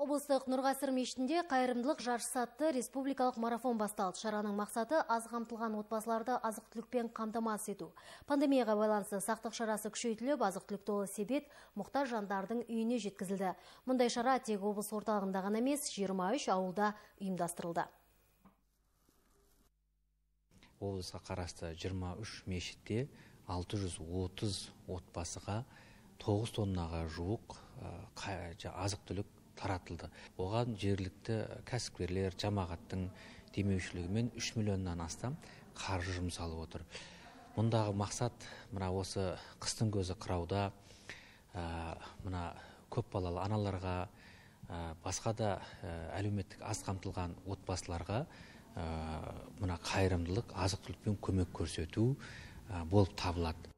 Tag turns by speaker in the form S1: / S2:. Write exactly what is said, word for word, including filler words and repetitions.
S1: Облыстық Нұрғасыр мешітінде қайырымдылық жарысы атты республикалық марафон басталды. Шараның мақсаты аз қамтылған отбасыларды азық-түлікпен қамтамасыз ету. Пандемияға байланысты сақтық шарасы күшейтіліп, азық-түлік толы себет мұқтаж жандардың үйіне жеткізілді. Мұндай шара тек облыс орталығында ғана емес, жиырма үш ауылда ұйымдастырылды.
S2: Облысқа қарасты жиырма үш мешітте алты жүз отыз отбасыға тоғыз тоннаға жуық азық-түлік таратылды. Оған жергілікті кәсіпкерлер, жамағаттың демеушілігімен үш миллионнан астам қаржы жұмсалып отыр. Мұндағы мақсат мына осы қыстың көзі қырауда мына көп балалы аналарға, басқа да әлеуметтік аз қамтылған отбасыларға мына қайырымдылық азық-түлікпен көмек көрсету болып табылады.